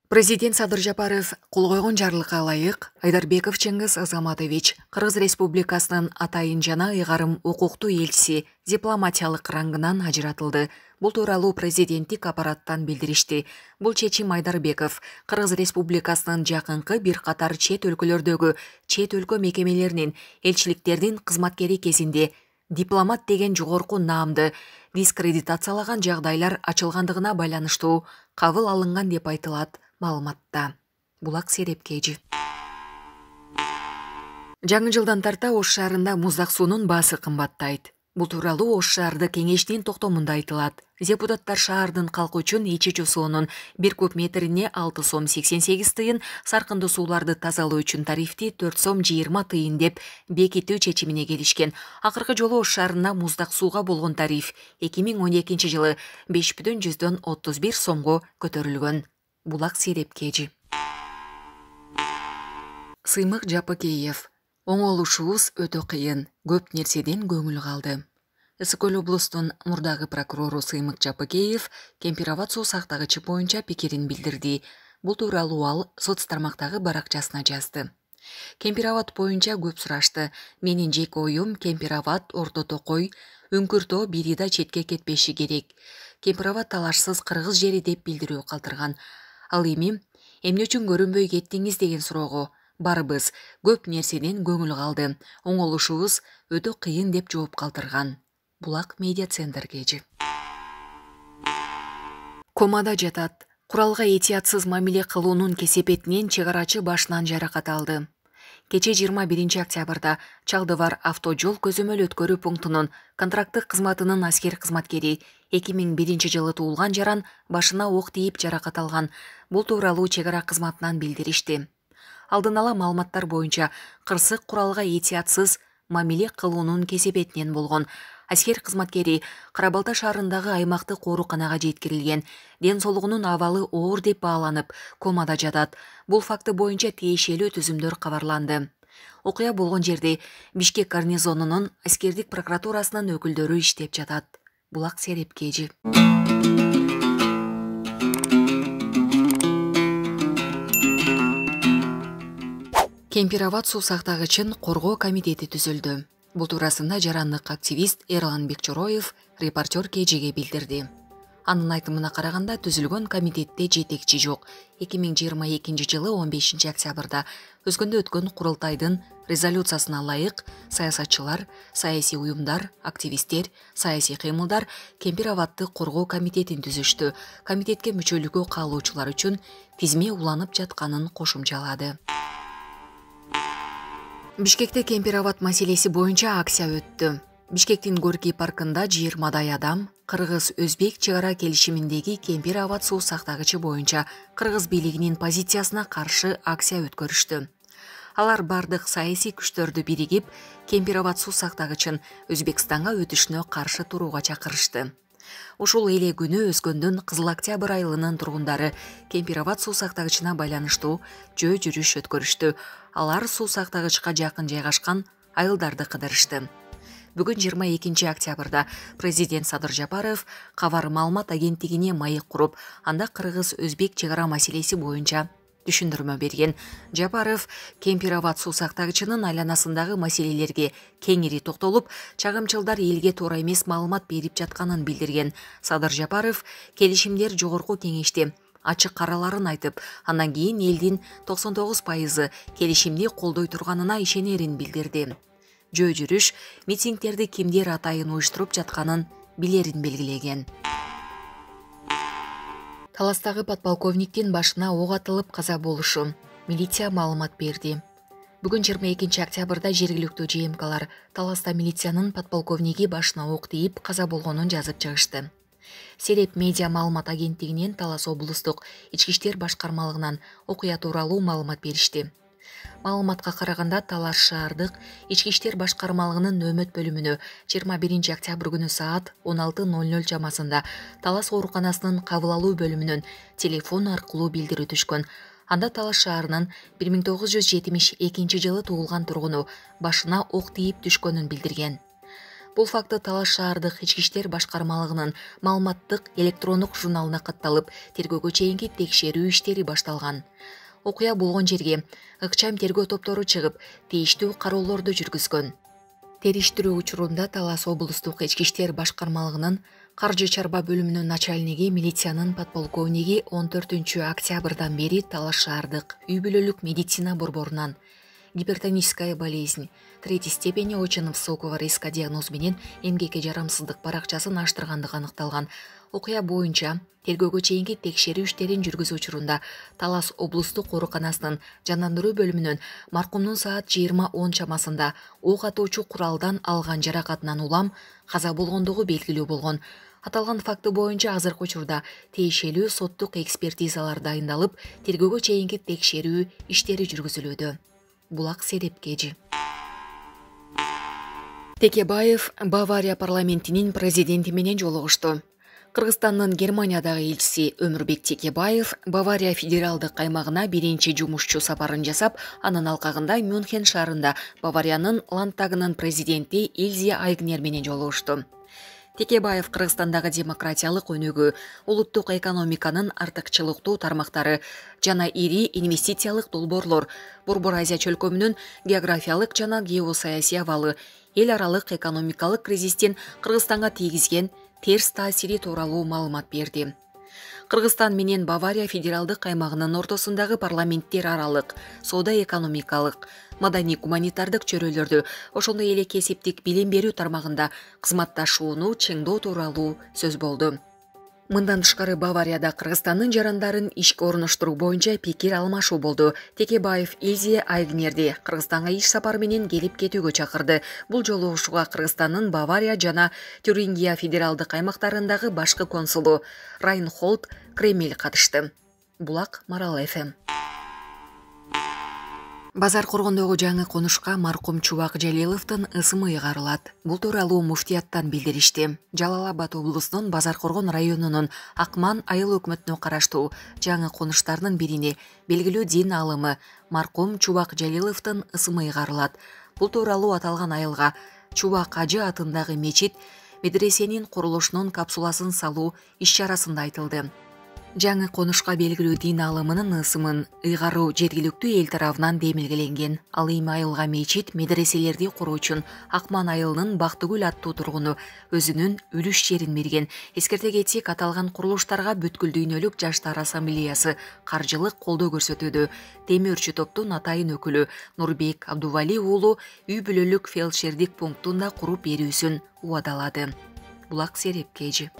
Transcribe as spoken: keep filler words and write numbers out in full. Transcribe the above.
Президент Садыр Жапаров кол койгон жарлыкка ылайык Айдарбеков Чеңгиз Азаматович Кыргыз Республикасынын атайын жана ыйгарым укуктуу элчиси дипломатиялык рангынан ажыратылды. Бул тууралуу президенттик аппараттан билдиришти. Бул чечим Айдарбеков Кыргыз Республикасынын жакынкы бир катар чет өлкөлөрдөгү чет өлкө мекемелеринин элчиликтердин кызматкери кезинде дипломат деген жогорку наамды дискредитациялаган жагдайлар ачылгандыгына байланыштуу кабыл алынган деп айтылат маалыматта. Булак Серепкежи. Жаңы жылдан тарта Ош шаарында муздак суунун баасы кымбаттайт. Бул тууралуу Ош шаардык кеңештин токтомунда айтылат. Депутаттар шаардын калкы үчүн ичүүчү суунун бир куб метрине алты сом сексен сегиз тыйын, саркындуу сууларды тазалоо үчүн тарифти төрт сом жыйырма тыйын деп бекитүү чечимине келишкен. Акыркы жолу Ош шаарына муздак сууга болгон тариф эки миң он экинчи жылы беш бүтүн жүздөн отуз бир сомго көтөрүлгөн. Булак Серепкежи. Сыймык Жапыкеев. Оңолушубуз өтө кыйын, көп нерседен көңүл калды. Ысык Көл облустун мурдагы прокурору Сыймык Жапыкеев Кемпир-Абад суу сактагычы боюнча пикирин билдирди. Бул тууралуу ал соц тармактагы баракчасына жазды. Кемпир-Абад боюнча көп сурашты. Менин жеке оюм Кемпир-Абад, Орто Токой, Үңкүр-Тоо бири да четке кетпеши керек. Кемпир-Абад талашсыз кыргыз жери деп билдирүү калтырган. Ал эми эмне үчүн көрүнбөй кеттиңиз деген суроого барыбыз көп нерседен көңүл калды. Оңолушубуз өтө кыйын деп жооп калтырган. Булак медиа центргежи. Комада жатат. Куралга этиятсыз мамиле кылуунун кесепетинен чек арачы башынан жаракат алды. Кече жыйырма биринчи октябрда Чалдыбар автожол көзөмөл өткөрүү пунктунун контракттык кызматынын аскер кызматкери эки миң биринчи жылы туулган жаран башына ок тийип жаракат алган. Бул тууралуу чек ара кызматынан билдиришти. Алдын ала маалыматтар боюнча кырсык куралга этиятсыз мамиле кылуунун кесепетинен болгон. Аскер кызматкери Кара Балта шаарындагы аймактык ооруканага жеткирилген. Ден соолугунун абалы оор деп бааланып, комада жатат. Бул факты боюнча тиешелүү түзүмдөр кабарланды. Окуя болгон жерде Бишкек гарнизонунун аскердик прокуратурасынын өкүлдөрү иштеп жатат. Булак Серепкежи. Кемпир-Абад суу сактагычын коргоо комитети түзүлдү. Бул туурасында жарандык активист Эрлан Бекчороев репортер Кежиге билдирди. Анын айтымына караганда түзүлгөн комитетте жетекчи жок. эки миң жыйырма экинчи жылы он бешинчи октябрда Өскөндө өткөн курултайдын резолюциясына ылайык саясатчылар, саясий уюмдар, активисттер, саясий кыймылдар Кемпир-Абадды коргоо комитетин түзүштү. Комитетке мүчөлүккө каалоочулар үчүн тизме уланып жатканын кошумчалады. Бишкекте Кемпир-Абад маселеси боюнча акция өттү. Бишкектин Горький паркында жыйырмадай адам Кыргыз-Өзбек чек ара келишиминдеги Кемпир-Абад суу сактагычы боюнча Кыргыз бийлигинин позициясына каршы акция өткөрүштү. Алар бардык саясий күчтөрдү биригип, Кемпир-Абад суу сактагычын Өзбекстанга өтүшүнө каршы турууга чакырышты. Ушул эле күнү Өскөндүн Кызыл Октябрь айылынын тургундары Кемпир-Абад суу сактагычына байланыштуу жөө жүрүш өткөрүштү. Алар суу сактагычка жакын жайгашкан айылдарды кыдырышты. Бүгүн жыйырма экинчи октябрда президент Садыр Жапаров кабар маалымат агенттигине маек куруп, анда Кыргыз-Өзбек чек ара маселеси боюнча түшүндүрмө берген. Жапаров Кемпир-Абад суу сактагычынын айланасындагы маселелерге кеңири токтолуп, чагымчылдар элге туура эмес маалымат берип жатканын билдирген. Садыр Жапаров келишимдер жогорку кеңеште ачык караларын айтып, андан кийин элдин токсон тогуз пайызы келишимди колдой турганына ишенерин билдирди. Жөө жүрүш, митингдерди кимдер атайын уюштуруп жатканын билерин белгилеген. Таластагы подполковниктин башына ок атылып каза болушу милиция маалымат берди. Бүгүн жыйырма экинчи октябрда жергиликтүү ЖМКлар Таласта милициянын подполковниги башына ок тийип каза болгонун жазып чыгышты. Сереп медиа маалымат агенттигинен Талас облустук ички иштер башкармалыгынан окуя тууралуу маалымат беришти. Маалыматка караганда Талас шаардык ички иштер башкармалыгынын нөөмөт бөлүмүнө жыйырма биринчи октябрь күнү саат он алты ноль ноль чамасында Талас ооруканасынын кабыл алуу бөлүмүнөн телефон аркылуу билдирүү түшкөн. Анда Талас шаарынын бир миң тогуз жүз жетимиш экинчи жылы туулган тургуну башына ок тийип түшкөнүн билдирген. Бул факты Талас шаардык ички иштер башкармалыгынын маалыматтык электрондук журналына катталып, тергөөгө чейинки текшерүү иштери башталган. Окуя болгон жерге ыкчам тергөө топтору чыгып, тийиштүү кароолорду жүргүзгөн. Териштирүү учурунда Талас облустук ички иштер башкармалыгынын каржы чарба бөлүмүнүн начальниги, милициянын подполковниги он төртүнчү октябрдан бери Талас шаардык үй бүлөлүк медицина борборунан гипертоническая болезнь, третьей степени очень высокого риска диагноз менен эмгекке жарамсыздык баракчасын аштыргандыгы аныкталган. Окуя боюнча тергөөгө чейинки текшерүү иштерин жүргүзүү учурунда Талас облустук ооруканасынын жандандыруу бөлүмүнөн маркумдун саат жыйырма он чамасында ок атуучу куралдан алган жаракатынан улам каза болгондугу белгилүү болгон. Аталган факты боюнча азыркы учурда тиешелүү соттук экспертизалар дайындалып, тергөөгө чейинки текшерүү иштери жүргүзүлүүдө. Булак Серепкежи. Текебаев Бавария парламентинин президенти менен жолугушту. Кыргызстандын Германиядагы элчиси Өмүрбек Текебаев Бавария федералдык каймагына биринчи жумушчу сапарын жасап, анын алкагында Мюнхен шаарында Бавариянын Ландтагынын президенти Илзе Айгнер менен жолугушту. Текебаев Кыргызстандагы демократиялык өнүгүү, улуттук экономиканын артыкчылыктуу тармактары жана ири инвестициялык долбоорлор, Борбор Азия чөлкөмүнүн географиялык жана геосаясий абалы, эл аралык экономикалык кризистин Кыргызстанга тийгизген терс таасири тууралуу маалымат берди. Кыргызстан менен Бавария федералдык каймагынын ортосундагы парламенттер аралык, соода-экономикалык, маданий-гуманитардык чөйрөлөрдү, ошондой эле кесиптик билим берүү тармагында кызматташууну чыңдоо тууралуу сөз болду. Мындан тышкары Баварияда Кыргызстандын жарандарын ишке орноштуруу боюнча пикир алмашуу болду. Текебаев Илзе Айгнерди Кыргызстанга иш сапары менен келип кетүүгө чакырды. Бул жолугушууга Кыргызстандын Бавария жана Тюрингия федералдык аймактарындагы башкы консулу Райнхолд Кремель катышты. Булак Марал эф эм. Базар Коргондогу жаңы конушка маркум Чубак Жалиловдун ысымы ыйгарылат. Бул тууралуу муфтияттан билдиришти. Жалал Абад облусунун Базар Коргон районунун Акман айыл өкмөтүнө караштуу жаңы конуштарынын бирине белгилүү дин аалымы маркум Чубак Жалиловдун ысымы ыйгарылат. Бул тууралуу аталган айылга Чубак Ажы атындагы мечит медресенин курулушунун капсуласын салуу иш-чарасында айтылды. Жаңы конушка белгилүү дин аалымынын ысымын ыйгаруу жергиликтүү эл тарабынан демилгеленген. Ал эми айылга мечит, медреселерди куруу үчүн Акман айылынын Бактыгүл аттуу тургуну өзүнүн үлүш жерин берген. Эскерте кетсек, аталган курулуштарга бүткүл дүйнөлүк жаштар ассамблеясы каржылык колдоо көрсөтүүдө. Темирчи топтун атайын өкүлү Нурбек Абдували уулу үй бүлөлүк фельдшердик пунктунда куруп берүүсүн убадалады. Булак Серепкежи.